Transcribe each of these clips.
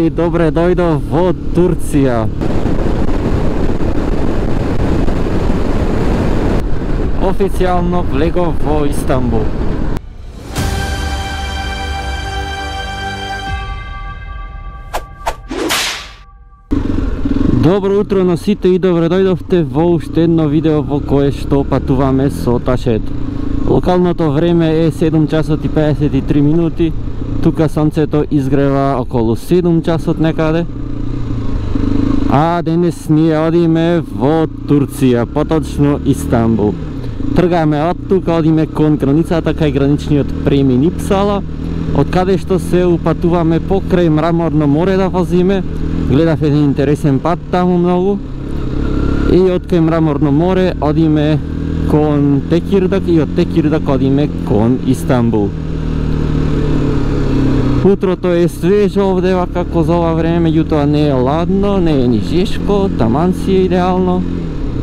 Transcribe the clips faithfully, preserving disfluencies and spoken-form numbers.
И добре дојдов во Турција. Официјално влегов во Истанбул. Добро утро на сите и добре дојдовте во уште едно видео во кое што патуваме со ташето. Локалното време е седум часот и педесет и три минути. Тука сонцето изгрева околу седум часот некаде. А денес ние одиме во Турција, поточно Истанбул. Тргаме од тука, одиме кон границата кај граничниот премин Ипсала, од каде што се упатуваме покрај Мраморно море да возиме. Гледав еден интересен пат таму многу. И од кај Мраморно море одиме кон Текирдак и од Текирдак одиме кон Истанбул. Утрото е свежо овде како за ова време, меѓутоа не е ладно, не е ни жешко, таман си е идеално.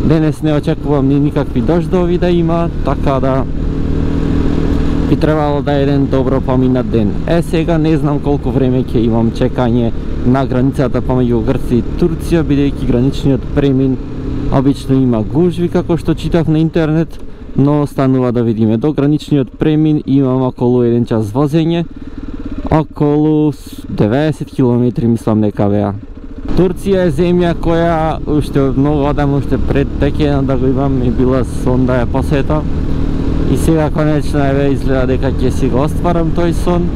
Денес не очекувам ни никакви дождови да има, така да би требало да е еден добро поминат ден. Е, сега не знам колку време ќе имам чекање на границата помеѓу Грција и Турција, бидејќи граничниот премин обично има гужви како што читав на интернет, но останува да видиме. До граничниот премин имам околу еден час возење, околу деветдесет километри мислам дека беа. Турција е земја која уште многу одам, уште пред Текена да го имам и била сон да ја посетам. И сега конечно еве изгледа дека ќе си го остварам тој сон.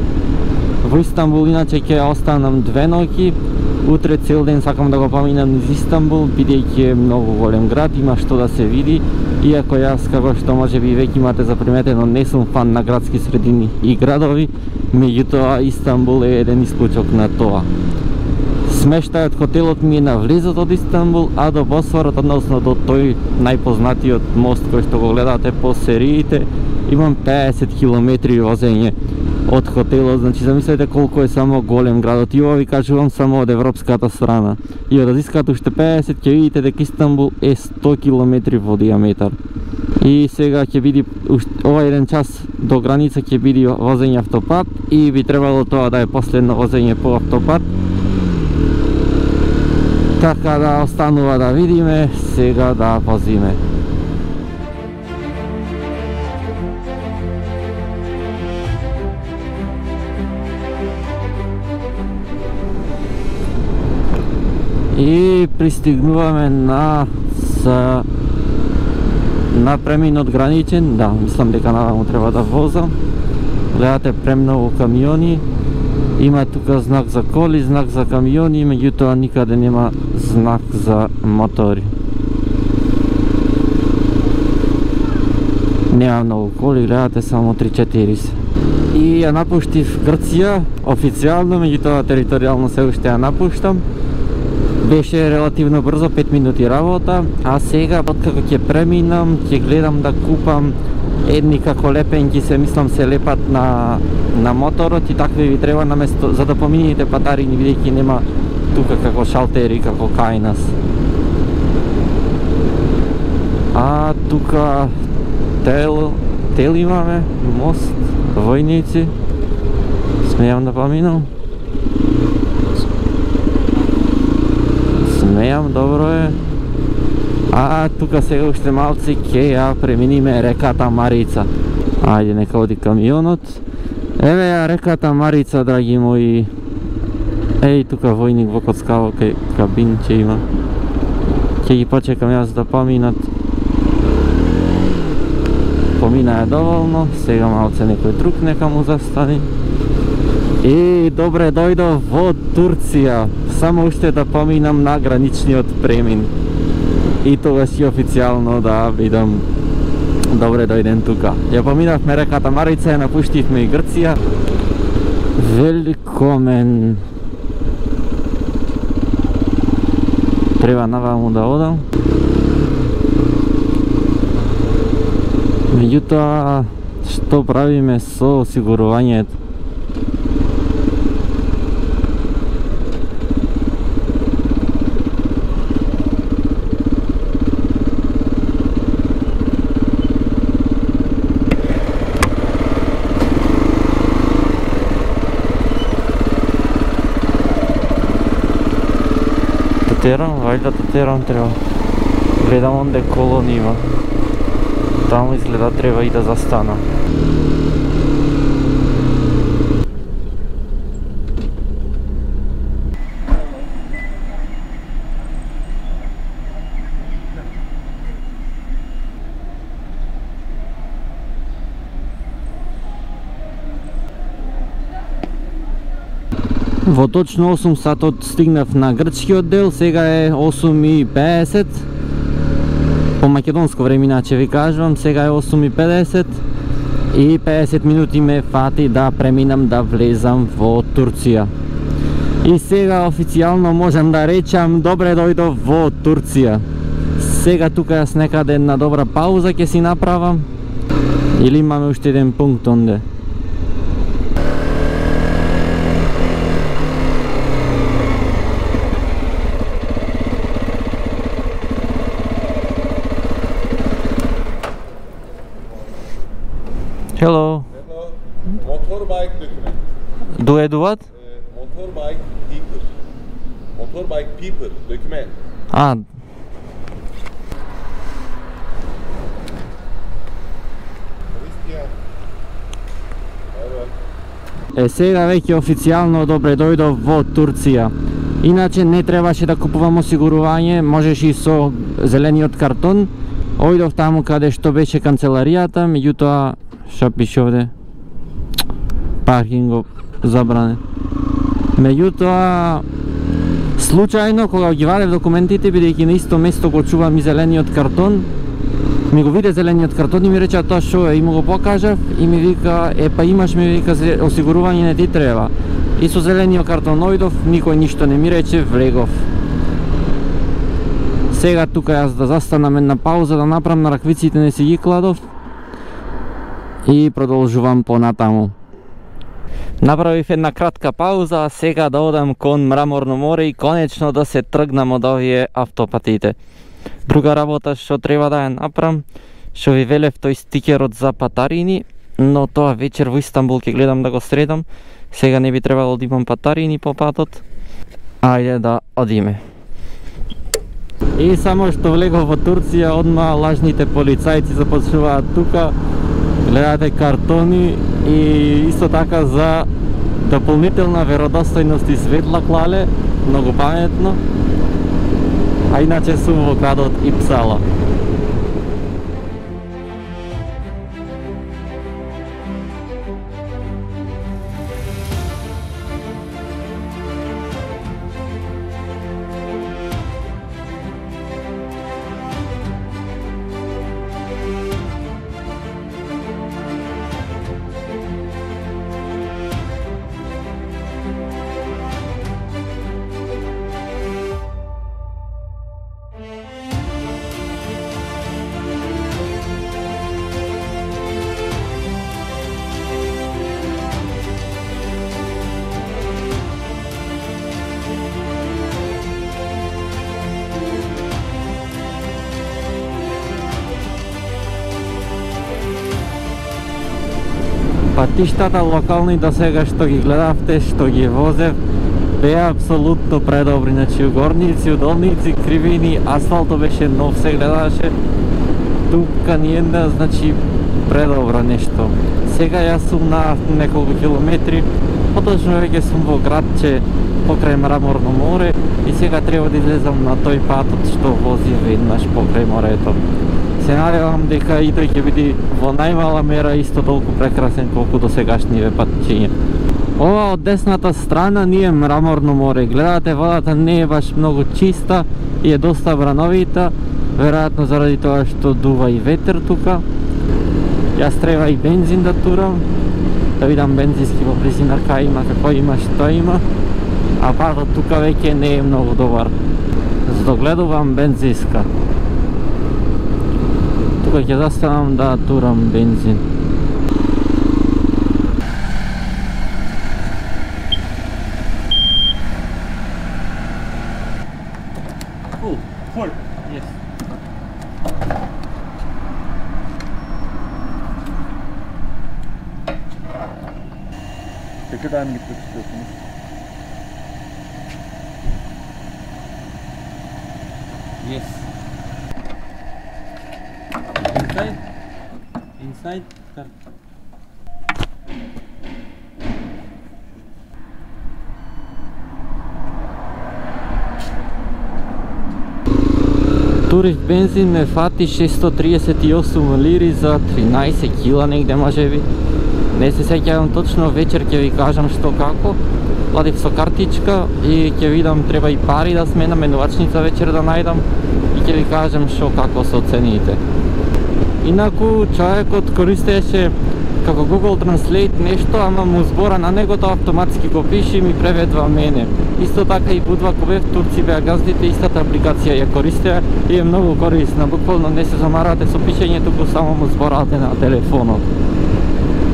Во Истанбул иначе ќе останам две ноќи. Утре цел ден сакам да го поминам низ Истанбул, бидејќи е многу голем град, има што да се види. Иако јас, како што може би веќе имате заприметено, не сум фан на градски средини и градови, меѓутоа Истанбул е еден исклучок на тоа. Смештајот хотелот ми е на влезот од Истанбул, а до Босфорот, односно до тој најпознатиот мост кој што го гледате по сериите, имам педесет километри возење од хотелот. Значи замислете колку е само голем градот. И ова ви кажувам само од европската страна. И од азиската уште педесет ќе видите дека Истанбул е сто километри во диаметар. И сега ќе биде ова еден час до граница ќе биде возење автопат и би требало тоа да е последно возење по автопат. Така да останува да видиме, сега да возиме. И пристигнуваме на за на преминот граничен. Да, мислам дека наваму треба да возам. Гледате премногу камиони. Има тука знак за коли, знак за камиони, меѓутоа никаде нема знак за мотори. Нема многу коли, гледате само три-четири се. И ја напуштив Грција официјално, меѓутоа територијално се уште ја напуштам. Беше релативно брзо, пет минути работа, а сега откако ќе преминам, ќе гледам да купам едни како лепенки, се мислам се лепат на на моторот и такви ви треба на место за да помините патарини, бидејќи нема тука како шалтери како кај нас. А тука тел тел имаме, мост, војници. Смејам да поминам. Смејам, добро е. А тука сега уште малци ќе ја преминиме реката Марица. Ајде, нека оди камионот. Еве ја реката Марица, драги мои. Еј, тука војник во коцкаво кај кабин ќе има. Ќе ги почекам јас да поминат. Помина е доволно, сега малце некој друг нека му застани. И добре дојдов во Турција. Само уште да поминам на граничниот премин. И тогаш и официјално да бидам добре дојден тука. Ја поминавме реката Марица, ја напуштивме и Грција. Великомен. Треба наваму да одам. Меѓутоа, што правиме со осигурувањето? терам, вајда да терам треба. Гледам онде колони има. Таму изгледа треба и да застана. Во точно осум сатот стигнав на грчкиот дел, сега е осум и педесет. По македонско време иначе ви кажувам, сега е осум и педесет и педесет минути ме фати да преминам да влезам во Турција. И сега официјално можам да речам добре дојдов во Турција. Сега тука јас некаде една добра пауза ќе си направам или имаме уште еден пункт онде. Hello. Hello. Motorbike document. Do I do what? Uh, motorbike people. Motorbike people document. А, Христијан. Evo. е сега веќе официјално добре дојдов во Турција. Иначе не требаше да купувам осигурување, можеш и со зелениот картон. Ојдов таму каде што беше канцеларијата, меѓутоа што пише овде? Паркинг забранен. Меѓутоа случајно кога ги вадев документите, бидејќи на исто место го чувам и зелениот картон, ми го виде зелениот картон и ми рече тоа што е, и му го покажав и ми вика е па имаш, ми вика осигурување не ти треба. И со зелениот картон ојдов, никој ништо не ми рече, влегов. Сега тука јас да застанам една пауза, да направам на раквиците, не си ги кладов и продолжувам понатаму. Направив една кратка пауза, а сега да одам кон Мраморно море и конечно да се тргнам од овие автопатите. Друга работа што треба да ја направам, што ви велев тој стикерот за патарини, но тоа вечер во Истанбул ќе гледам да го средам. Сега не би требало да имам патарини по патот. Ајде да одиме. И само што влегов во Турција, одма лажните полицајци започнуваат тука, гледате картони и исто така за дополнителна веродостојност и светла клале, многу паметно. А иначе сум во градот Ипсала. Патиштата локални до сега што ги гледавте, што ги возев, беа апсолутно предобри, значи угорници, удолници, кривини, асфалтот беше нов, се гледаше, тука ни една, значи предобро нешто. Сега јас сум на неколку километри, поточно веќе сум во градче покрај Мраморно море и сега треба да излезам на тој патот што вози веднаш покрај морето. Се надевам дека и тој ќе биде во најмала мера исто толку прекрасен колку до сегашниве патчиња. Ова од десната страна ни е Мраморно море. Гледате, водата не е баш многу чиста и е доста брановита, веројатно заради тоа што дува и ветер тука. Јас треба и бензин да турам, да видам бензински во близина кај има, како има, што има, а патот тука веќе не е многу добар. Задогледувам бензинска. Тука ќе застанам да турам бензин. Full, full. Yes. Tekirdağ'a mı gitmek istiyorsunuz? Yes. Inside? Inside? Car. Турист бензин ме фати шестоста триесет и осум лири за тринаесет кила негде можеби. Не се сеќавам точно, вечер ќе ви кажам што како. Платив со картичка и ќе видам треба и пари да сменам, менувачница вечер да најдам и ќе ви кажам што како со цените. Инаку човекот користеше како Google Translate нешто, ама му збора на него тоа автоматски го пише и ми преведува мене. Исто така и Будва кога бев турци беа газдите, истата апликација ја користеа и е многу корисна. Буквално не се замарате со пишење, туку само му зборате на телефонот.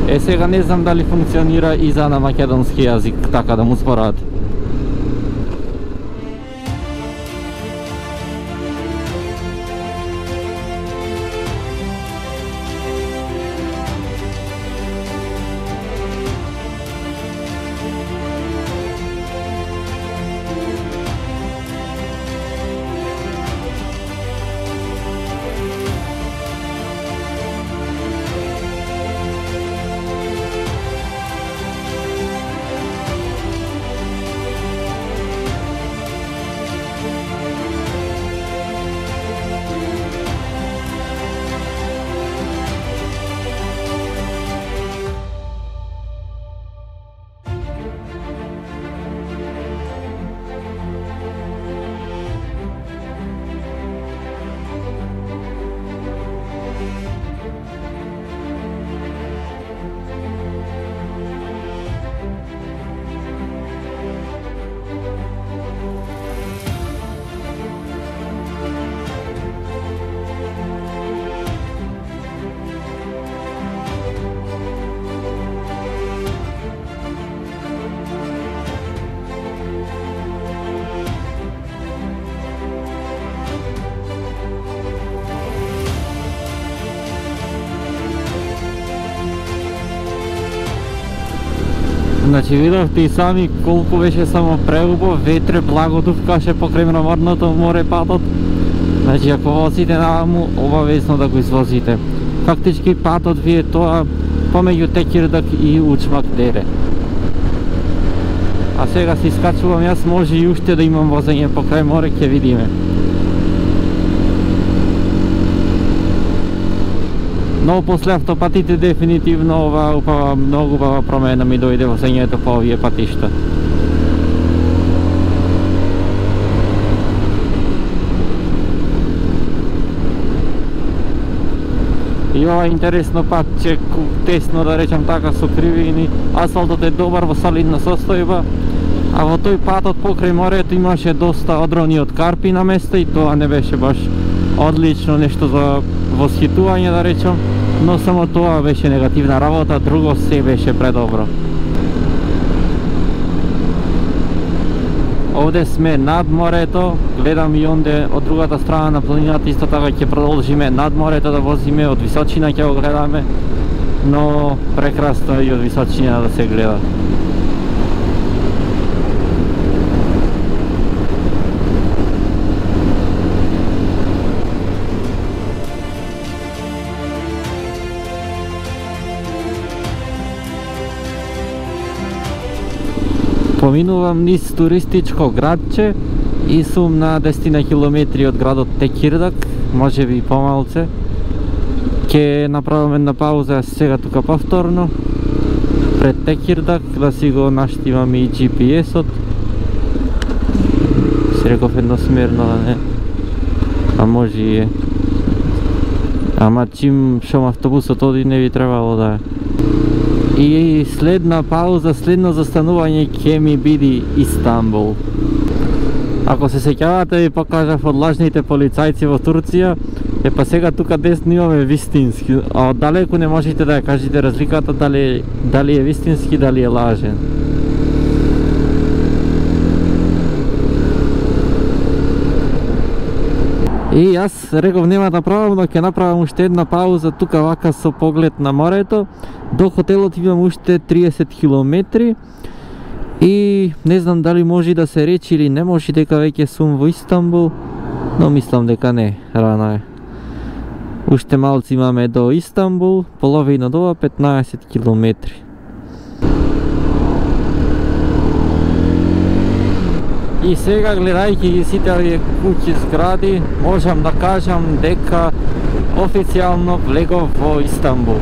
Е, сега не знам дали функционира и за на македонски јазик, така да му зборате. Значи видовте и сами колку беше само преубав, ветре благо дувкаше покрај мраморното море патот. Значи ако возите наваму, обавезно да го извозите. Фактички патот ви е тоа помеѓу Текирдак и Учмак дере. А сега се искачувам јас, може и уште да имам возење покрај море, ќе видиме. Но после автопатите дефинитивно ова упава, многу убава промена ми дојде возењето по овие патишта. И ова интересно патче, тесно да речам така, со кривини, асфалтот е добар во солидна состојба, а во тој патот покрај морето имаше доста одрони од карпи на место и тоа не беше баш одлично нешто за восхитување да речам, но само тоа беше негативна работа, друго се беше предобро. Овде сме над морето, гледам и онде од другата страна на планината, исто така ќе продолжиме над морето да возиме, од височина ќе го гледаме, но прекрасно и од височина да се гледа. Поминувам низ туристичко градче и сум на десет километри од градот Текирдак, може би и помалце. Ке направам една пауза сега тука повторно пред Текирдак да си го наштивам и джи пи ес-от. Си реков едносмерно, да не? А може и е. Ама чим шом автобусот оди не би требало да е. И следна пауза, следно застанување ќе ми биде Истанбул. Ако се сеќавате, ви покажав од лажните полицајци во Турција, е па сега тука десно имаме вистински, а од далеку не можете да ја кажете разликата дали, дали е вистински, дали е лажен. И јас реков нема да правам, но ќе направам уште една пауза тука вака со поглед на морето. До хотелот имам уште триесет километри и не знам дали може да се речи или не може дека веќе сум во Истанбул, Но мислам дека не, рано е. Уште малци имаме до Истанбул, половина од ова петнаесет километри. И сега, гледајќи ги сите овие куќи, згради, можам да кажам дека официјално влегов во Истанбул.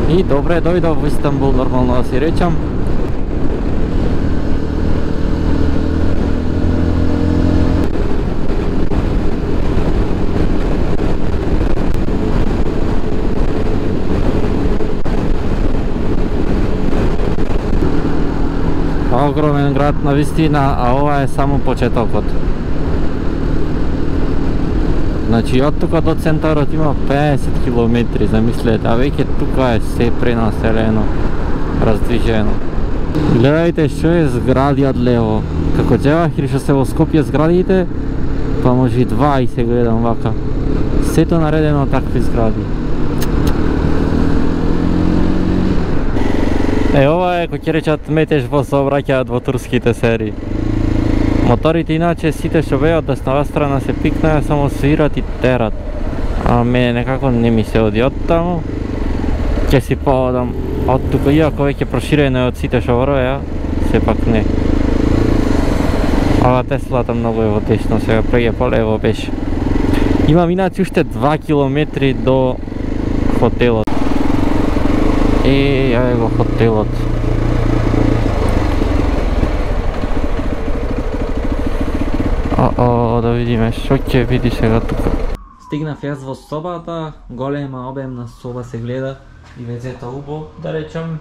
И добре дојдов во Истанбул, нормално да си речам. Огромен град на вистина, а ова е само почетокот. Значи од тука до центарот има петдесет километри, замислете, а веќе тука е се пренаселено, раздвижено. Гледајте што е згради од лево. Како джевах или што се во Скопје зградите, па може и два и се гледам вака. Сето наредено такви згради. Е, ова е, кој ќе речат, метеж во сообраќајот во турските серии. Моторите иначе сите што беа од деснава страна се пикнаа, само свират и терат. А мене некако не ми се оди од таму. Ќе си поодам од тука, иако веќе проширено е од сите што вороја, сепак не. Ова Теслата многу е во десно, сега преќе полево беше. Имам иначе уште два километри до хотелот. Е, ја е го хотелот. О, да видиме што ќе види сега тука. Стигнав јас во собата, голема обемна соба се гледа и вецето убо, да речам,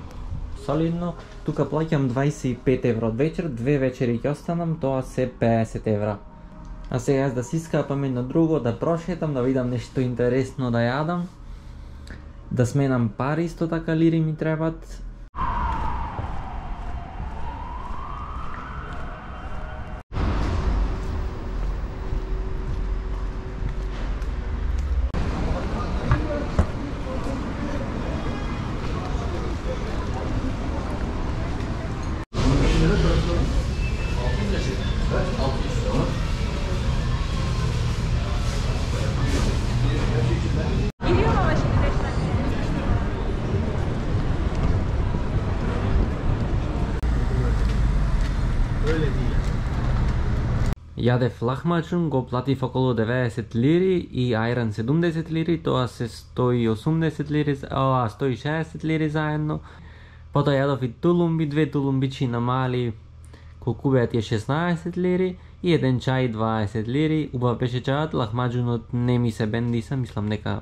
солидно. Тука плаќам дваесет и пет евро од вечер, две вечери ќе останам, тоа се петдесет евра. А сега јас да си искапам едно друго, да прошетам, да видам нешто интересно да јадам. Да сменам пари, исто така лири ми требат. Јадев лахмачун, го платив околу деветдесет лири и ајран седумдесет лири, тоа се сто и осумдесет лири, а сто и шеесет лири заедно. Потоа јадов и тулумби, две тулумбичи на мали, колку беа тие шеснаесет лири и еден чај дваесет лири. Убав беше чајот, лахмачунот не ми се бендиса, мислам дека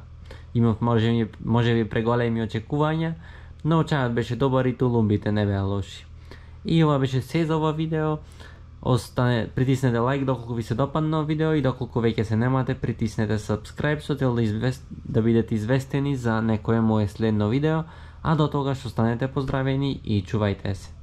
имав може, може би преголеми очекувања, но чајот беше добар и тулумбите не беа лоши. И ова беше се за ова видео. Остане, притиснете лайк доколку ви се допадна видео и доколку веќе се немате, притиснете subscribe со цел да, извест... да бидете известени за некое мое следно видео, а до тогаш останете поздравени и чувајте се.